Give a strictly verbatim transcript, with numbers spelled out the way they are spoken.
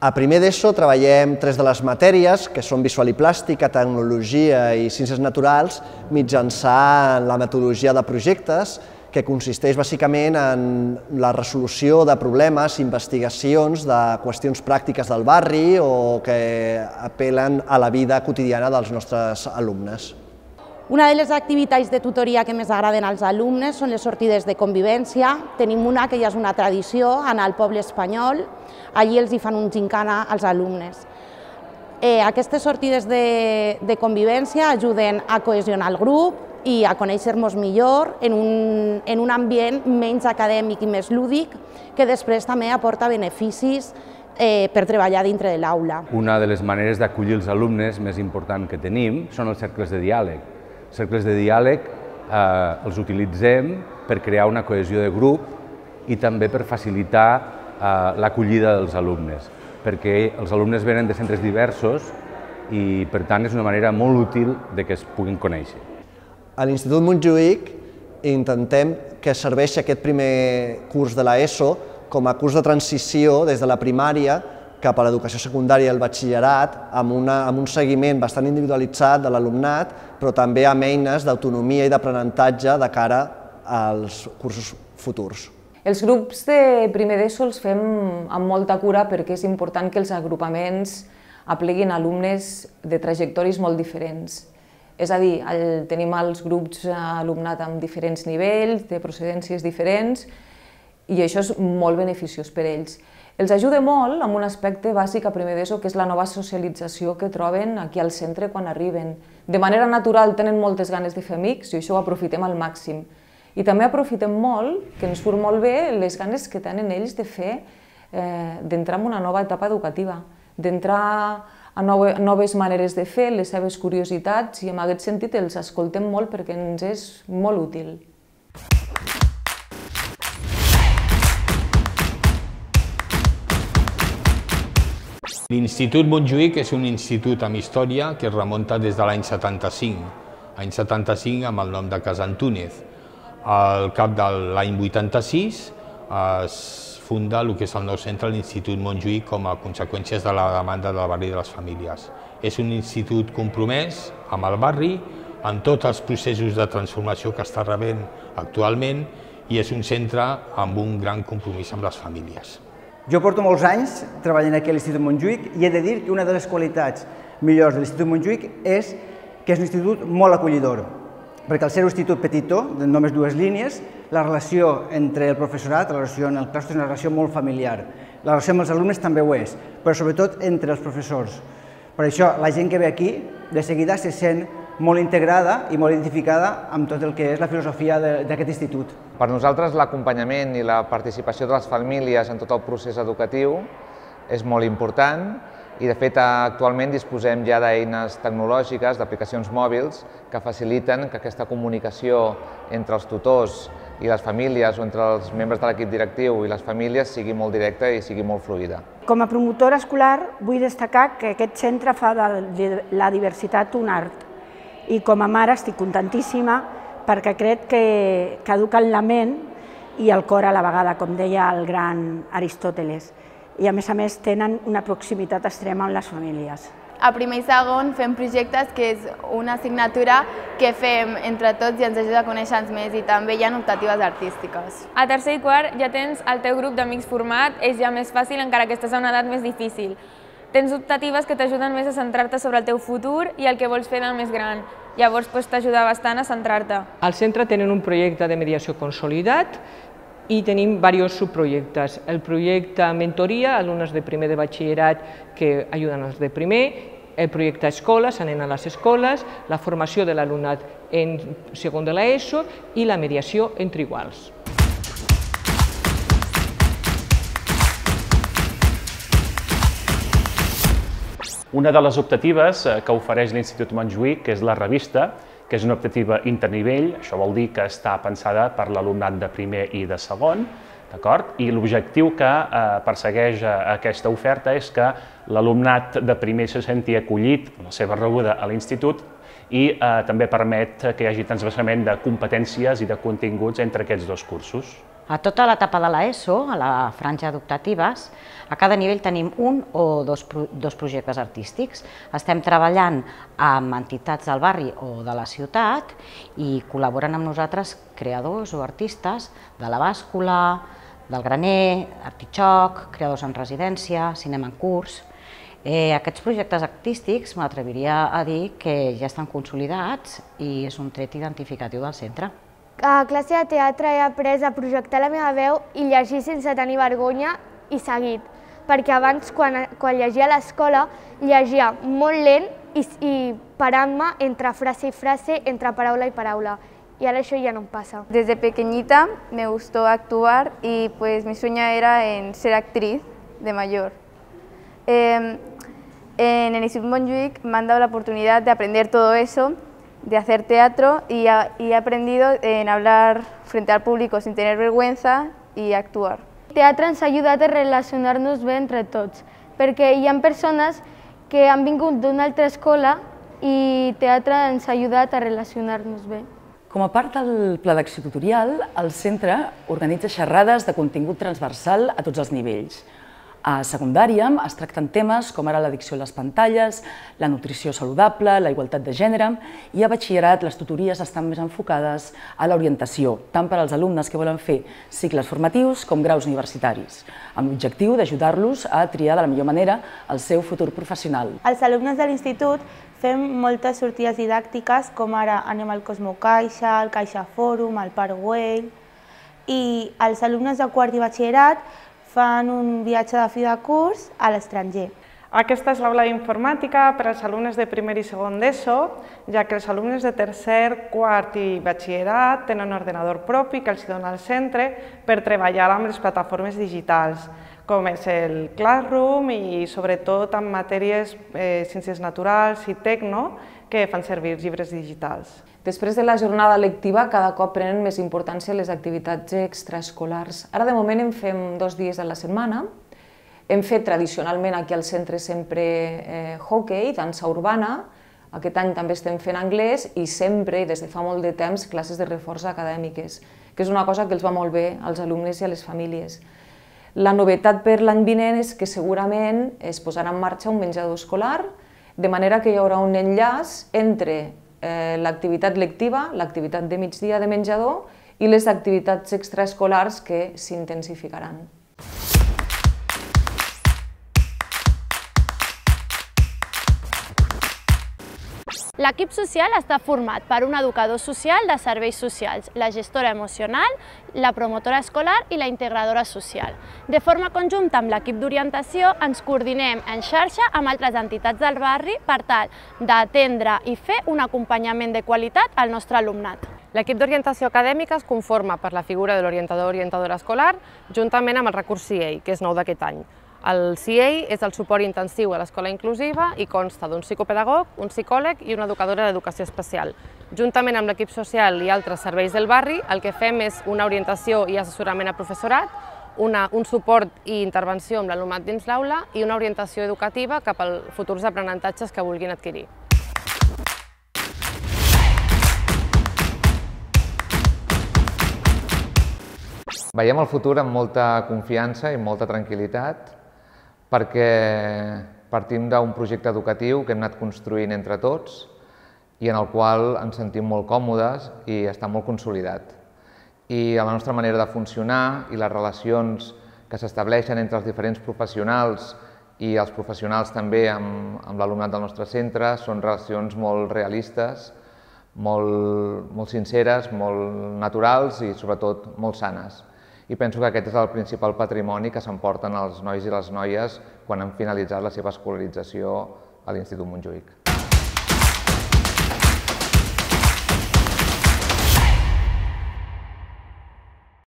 A primer d'ESO treballem tres de les matèries, que són visual i plàstica, tecnologia i ciències naturals, mitjançant la metodologia de projectes, que consisteix bàsicament en la resolució de problemes, investigacions de qüestions pràctiques del barri o que apel·len a la vida quotidiana dels nostres alumnes. Una de les activitats de tutoria que més agraden als alumnes són les sortides de convivència. Tenim una que ja és una tradició, anar al poble espanyol, allí els hi fan un gincana als alumnes. Eh, aquestes sortides de, de convivència ajuden a cohesionar el grup i a conèixer-nos millor en un, en un ambient menys acadèmic i més lúdic, que després també aporta beneficis eh, per treballar dintre de l'aula. Una de les maneres d'acollir els alumnes més important que tenim són els cercles de diàleg. Els cercles de diàleg eh, els utilitzem per crear una cohesió de grup i també per facilitar eh, l'acollida dels alumnes, perquè els alumnes venen de centres diversos i, per tant, és una manera molt útil de que es puguin conèixer. A l'Institut Montjuïc intentem que serveixi aquest primer curs de l'ESO com a curs de transició des de la primària cap a l'educació secundària i el batxillerat, amb, una, amb un seguiment bastant individualitzat de l'alumnat, però també amb eines d'autonomia i d'aprenentatge de cara als cursos futurs. Els grups de primer d'ESO els fem amb molta cura perquè és important que els agrupaments apleguin alumnes de trajectoris molt diferents. És a dir, el, tenim els grups alumnat amb diferents nivells, de procedències diferents, i això és molt beneficiós per a ells. Els ajuda molt amb un aspecte bàsic a primer d'ESO, que és la nova socialització que troben aquí al centre quan arriben. De manera natural tenen moltes ganes de fer amics i això ho aprofitem al màxim. I també aprofitem molt, que ens surt molt bé, les ganes que tenen ells de fer, eh, d'entrar en una nova etapa educativa, d'entrar a noves maneres de fer, les seves curiositats, i en aquest sentit els escoltem molt perquè ens és molt útil. L'Institut Montjuïc és un institut amb història que es remunta des de l'any setanta-cinc. Any setanta-cinc amb el nom de Casa Antúnez. Al cap de l'any vuitanta-sis es funda el que és el nou centre, l'Institut Montjuïc, com a conseqüències de la demanda del barri de les famílies. És un institut compromès amb el barri, amb tots els processos de transformació que està rebent actualment, i és un centre amb un gran compromís amb les famílies. Jo porto molts anys treballant aquí a l'Institut Montjuïc i he de dir que una de les qualitats millors de l'Institut Montjuïc és que és un institut molt acollidor, perquè al ser un institut petitó, de només dues línies, la relació entre el professorat, la relació en el claustre és una relació molt familiar. La relació amb els alumnes també ho és, però sobretot entre els professors. Per això la gent que ve aquí de seguida se sent molt integrada i molt identificada amb tot el que és la filosofia d'aquest institut. Per nosaltres l'acompanyament i la participació de les famílies en tot el procés educatiu és molt important i de fet actualment disposem ja d'eines tecnològiques, d'aplicacions mòbils que faciliten que aquesta comunicació entre els tutors i les famílies o entre els membres de l'equip directiu i les famílies sigui molt directa i sigui molt fluida. Com a promotora escolar vull destacar que aquest centre fa de la diversitat un art. I com a mare estic contentíssima perquè crec que, que eduquen la ment i el cor a la vegada, com deia el gran Aristòteles. I a més a més tenen una proximitat extrema amb les famílies. A primer i segon fem projectes, que és una assignatura que fem entre tots i ens ajuda a conèixer-nos més, i també hi ha optatives artístiques. A tercer i quart ja tens el teu grup d'amics format, és ja més fàcil encara que estàs a una edat més difícil. Tens optatives que t'ajuden més a centrar-te sobre el teu futur i el que vols fer del més gran. Llavors t'ajuda bastant a centrar-te. Al centre tenen un projecte de mediació consolidat i tenim diversos subprojectes. El projecte mentoria, alumnes de primer de batxillerat que ajuden als de primer, el projecte escoles, anem a les escoles, la formació de l'alumnat en segon de l'ESO i la mediació entre iguals. Una de les optatives que ofereix l'Institut Montjuïc, que és la revista, que és una optativa internivell, això vol dir que està pensada per l'alumnat de primer i de segon, d'acord? I l'objectiu que persegueix aquesta oferta és que l'alumnat de primer se senti acollit en la seva rebuda a l'institut i també permet que hi hagi transvasament de competències i de continguts entre aquests dos cursos. A tota l'etapa de l'ESO, a la franja educatives, a cada nivell tenim un o dos, dos projectes artístics. Estem treballant amb entitats del barri o de la ciutat i col·laboren amb nosaltres creadors o artistes de la bàscula, del graner, artitxoc, creadors en residència, cinema en curs. Eh, aquests projectes artístics m'atreviria a dir que ja estan consolidats i és un tret identificatiu del centre. A classe de teatre he après a projectar la meva veu i llegir sense tenir vergonya i seguit, perquè abans, quan, quan llegia a l'escola, llegia molt lent i, i parant-me entre frase i frase, entre paraula i paraula. Y ahora eso ya no pasa. Desde pequeñita me gustó actuar y pues mi sueño era en ser actriz de mayor. Eh, en el Instituto Montjuïc me han dado la oportunidad de aprender todo eso, de hacer teatro y, a, y he aprendido en hablar frente al público sin tener vergüenza y actuar. El teatre ens ha ajudat a relacionar-nos bé entre tots, perquè hi ha persones que han vingut d'una altra escola i teatre ens ha ajudat a relacionar-nos bé. Com a part del pla d'acció tutorial, el centre organitza xerrades de contingut transversal a tots els nivells. A secundària es tracten temes com ara l'addicció a les pantalles, la nutrició saludable, la igualtat de gènere, i a batxillerat les tutories estan més enfocades a l'orientació, tant per als alumnes que volen fer cicles formatius com graus universitaris, amb l'objectiu d'ajudar-los a triar de la millor manera el seu futur professional. Els alumnes de l'institut fem moltes sortides didàctiques, com ara anem al Cosmo Caixa, al Caixa Fòrum, al Paraguay, i els alumnes de quart i batxillerat fan un viatge de fi de curs a l'estranger. Aquesta és l'aula d'informàtica per als alumnes de primer i segon d'ESO, ja que els alumnes de tercer, quart i batxillerat tenen un ordenador propi que els dona el centre per treballar amb les plataformes digitals, com és el Classroom i sobretot en matèries eh, ciències naturals i tecno que fan servir llibres digitals. Després de la jornada lectiva, cada cop prenen més importància les activitats extraescolars. Ara, de moment, en fem dos dies a la setmana. Hem fet tradicionalment aquí al centre sempre eh, hockey, dansa urbana. Aquest any també estem fent anglès i sempre, des de fa molt de temps, classes de reforç acadèmiques, que és una cosa que els va molt bé als alumnes i a les famílies. La novetat per l'any vinent és que segurament es posarà en marxa un menjador escolar, de manera que hi haurà un enllaç entre eh, l'activitat lectiva, l'activitat de migdia de menjador i les activitats extraescolars que s'intensificaran. L'equip social està format per un educador social de serveis socials, la gestora emocional, la promotora escolar i la integradora social. De forma conjunta amb l'equip d'orientació ens coordinem en xarxa amb altres entitats del barri per tal d'atendre i fer un acompanyament de qualitat al nostre alumnat. L'equip d'orientació acadèmica es conforma per la figura de l'orientador o orientadora escolar juntament amb el recurs C I E I, que és nou d'aquest any. El C I E I és el suport intensiu a l'escola inclusiva i consta d'un psicopedagog, un psicòleg i una educadora d'educació especial. Juntament amb l'equip social i altres serveis del barri, el que fem és una orientació i assessorament a professorat, una, un suport i intervenció amb l'alumnat dins l'aula i una orientació educativa cap als futurs aprenentatges que vulguin adquirir. Veiem el futur amb molta confiança i molta tranquil·litat, perquè partim d'un projecte educatiu que hem anat construint entre tots i en el qual ens sentim molt còmodes i està molt consolidat. I la nostra manera de funcionar i les relacions que s'estableixen entre els diferents professionals i els professionals també amb, amb l'alumnat del nostre centre són relacions molt realistes, molt, molt sinceres, molt naturals i sobretot molt sanes. I penso que aquest és el principal patrimoni que s'emporten els nois i les noies quan han finalitzat la seva escolarització a l'Institut Montjuïc.